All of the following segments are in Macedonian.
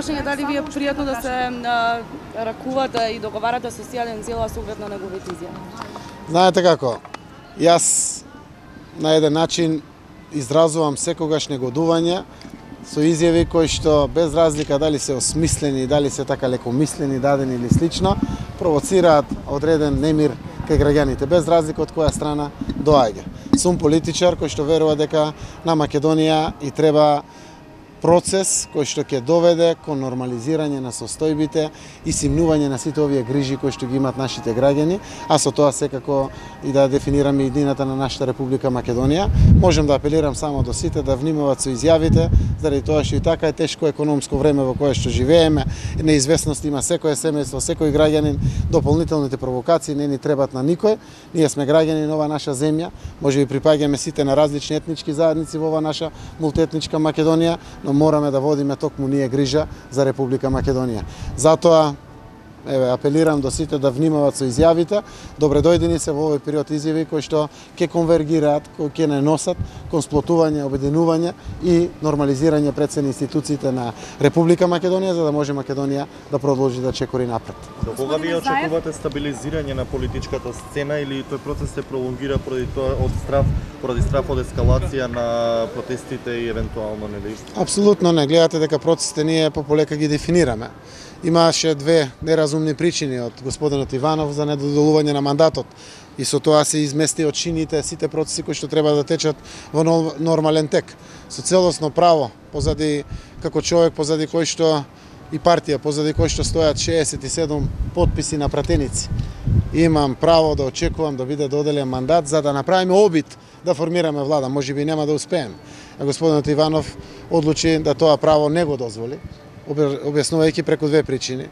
прашање дали ви е пријатно да се ракувате и договарате со Сијадин Цела со оглед на неговите изјави? Знаете како, јас на еден начин изразувам секогаш негодување со изјави кои што без разлика дали се осмислени, дали се така лекомислени, дадени или слично, провоцираат одреден немир кај граѓаните, без разлика од која страна доаѓа. Сум политичар кој што верува дека на Македонија и треба процес кој што ќе доведе кон нормализирање на состојбите и симнување на сите овие грижи кои што ги имаат нашите граѓани, а со тоа секако и да дефинираме иднината на нашата Република Македонија. Можем да апелирам само до сите да внимават со изјавите, заради тоа што и така е тешко економско време во кое што живееме, неизвестност има секое семејство, секој граѓанин, дополнителните провокации не ни требат на никој. Ние сме граѓани на оваа наша земја, можеби припаѓаме сите на различни етнички заедници во оваа наша мултиетничка Македонија, но мораме да водиме токму ние грижа за Република Македонија. Затоа апелирам до сите да внимават со изјавите. Добре дојдени се во овој период изјави кои што ќе конвергираат, кои ќе не носат кон сплотување, обединување и нормализирање пред се институциите на Република Македонија, за да може Македонија да продолжи да чекори напред. До кога вие очекувате стабилизирање на политичката сцена или тој процес се пролонгира поради страф од ескалација на протестите и евентуално нели? Апсолутно не. Гледате дека процесите ние пополека ги дефинираме. Имаше две неразумни причини од господинот Иванов за недодолување на мандатот и со тоа се измести од чините сите процеси кои што треба да течат во нормален тек. Со целосно право, позади како човек, позади кој што и партија, позади кој што стојат 67 потписи на пратеници. Имам право да очекувам да биде доделен мандат за да направиме обид да формираме влада. Можеби нема да успееме. А господинот Иванов одлучи да тоа право не го дозволи, објаснувајќи преку две причини.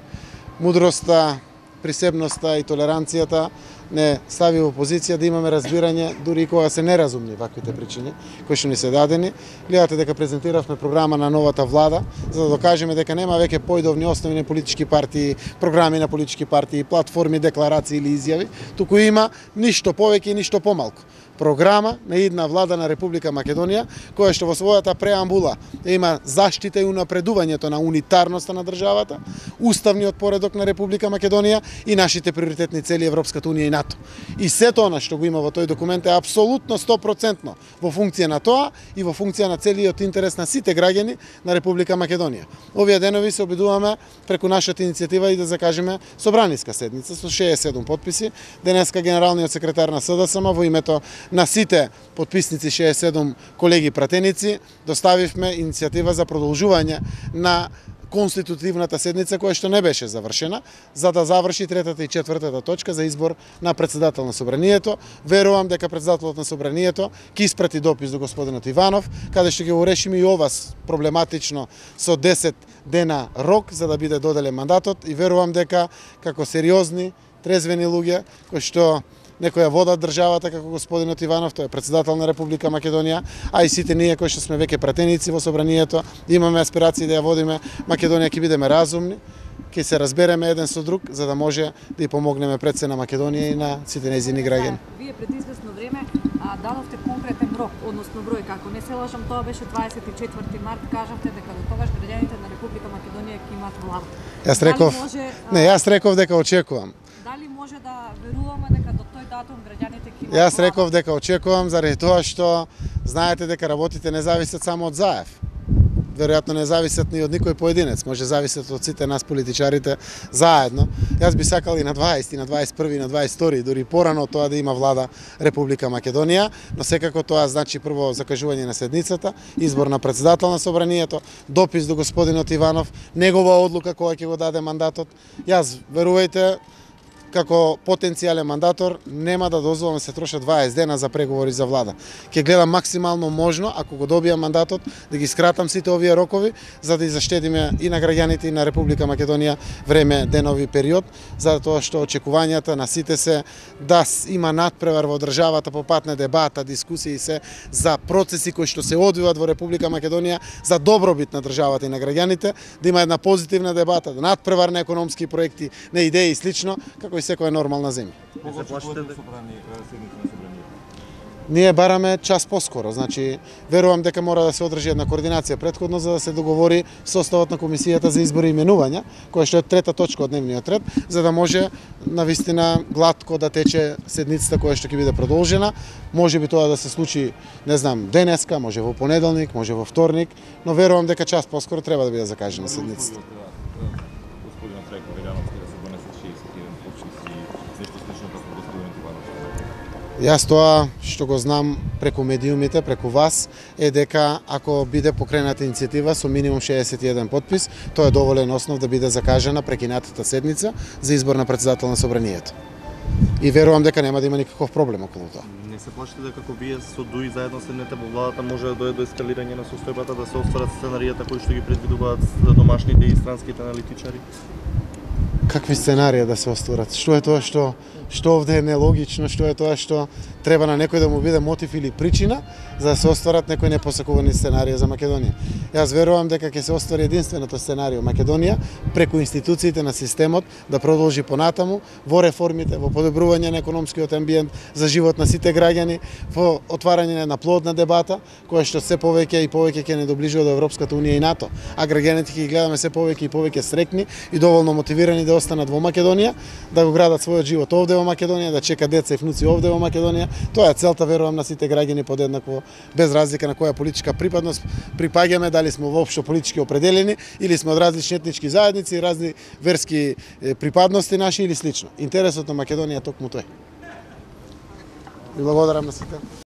Мудроста, присебноста и толеранцијата не стави во позиција да имаме разбирање дури и кога се неразумни ваквите причини кои што ни се дадени. Гледате дека презентиравме програма на новата влада за да докажеме дека нема веќе поидовни основи на политички партии, програми на политички партии, платформи, декларации или изјави, туку има ништо повеќе и ништо помалку. Програма на идна влада на Република Македонија, која што во својата преамбула има заштита и унапредувањето на унитарноста на државата, уставниот поредок на Република Македонија и нашите приоритетни цели Европската унија и НАТО. И сето она што го има во тој документ е апсолутно 100% во функција на тоа и во функција на целиот интерес на сите граѓани на Република Македонија. Овие денови се обидуваме преку нашата иницијатива и да закажеме собраниска седница со 67 потписи. Денеска генералниот секретар на СДСМ во името на сите потписници 67 колеги пратеници доставивме иницијатива за продолжување на конститутивната седница која што не беше завршена, за да заврши третата и четвртата точка за избор на председател на собранието. Верувам дека председателот на собранието ќе испрати допис до господинот Иванов, каде што ќе го решиме и ова проблематично со 10 дена рок за да биде доделен мандатот и верувам дека како сериозни, трезвени луѓе кои што некоја водат државата како господинот Иванов, тој е председател на Република Македонија, а и сите ние кои што сме веќе пратеници во собранието, имаме аспирации да ја водиме Македонија, ќе бидеме разумни, ќе се разбереме еден со друг, за да може да ја помогнеме пред се на Македонија и на сите нејзини граѓани. Вие пред известно време дадовте конкретен рок, односно број, како не се лажам, тоа беше 24 март, кажавте дека до тогаш граѓаните на Република Македонија ќе имаат влада. Јас реков дека очекувам. Дали може да веруваме дека до тој датум граѓаните ќе имаат Јас реков дека очекувам заради тоа што знаете дека работите не зависат само од Заев. Веројатно не зависат ни од никој поединец, може зависат од сите нас политичарите заедно. Јас би сакал и на 20, и на 21, и на 22, дури порано тоа да има влада Република Македонија, но секако тоа значи прво закажување на седницата, избор на председател на собранието, допис до господинот Иванов, негова одлука која ќе го даде мандатот. Јас верувајте како потенцијален мандатор нема да дозволам да се трошат 20 дена за преговори за влада. Ќе гледам максимално можно, ако го добијам мандатот, да ги скратам сите овие рокови, за да заштедиме и на граѓаните и на Република Македонија време, денови, период, за тоа што очекувањата на сите се да има надпревар во државата по пат на дебата, дискусии се за процеси кои што се одвиваат во Република Македонија за добробит на државата и на граѓаните, да има една позитивна дебата, надпревар на економски проекти, на идеи и слично, како секоја нормална земја. Ние бараме час поскоро, значи верувам дека мора да се одржи една координација претходно за да се договори составот на комисијата за избори и именувања, која што е трета точка од дневниот ред, за да може навистина гладко да тече седницата која што ќе биде продолжена. Може би тоа да се случи, не знам, денеска, може во понеделник, може во вторник, но верувам дека час поскоро треба да биде закажена седницата. Господинот Трејко Велјановски да се донесат 61 подписи, нешто слично како господинот Иванов. Јас тоа што го знам преку медиумите, преку вас, е дека ако биде покрената иницијатива со минимум 61 подпис, тоа е доволен основ да биде закажена прекинатата седница за избор на председател на собранието. И верувам дека нема да има никаков проблем околу тоа. Не се плашите дека ако вие со ДУИ заедно седнете во владата може да дојде до ескалирање на состојбата, да се остварат сценаријата кои што ги предвидуваат домашните и странските аналитичари? Какви сценарија да се остварат? Што е тоа што овде е нелогично, што е тоа што треба на некој да му биде мотив или причина за да се остварат некои непосакувани сценарија за Македонија. Јас верувам дека ќе се оствари единственото сценарио Македонија преку институциите на системот да продолжи понатаму во реформите, во подобрување на економскиот амбиент за живот на сите граѓани, во отварање на плодна дебата која што се повеќе и повеќе ќе не доближува до Европската унија и НАТО, а граѓаните ќе ги гледаме се повеќе и повеќе среќни и доволно мотивирани да останат во Македонија, да го градат својот живот овде во Македонија, да чека деца и внуци овде во Македонија. Тоа е целта, верувам, на сите граѓани подеднакво, без разлика на која политичка припадност припаѓаме, дали сме воопшто политички определени или сме од различни етнички заедници, разни верски припадности наши или слично. Интересот на Македонија е токму тој. Ви благодарам на сите.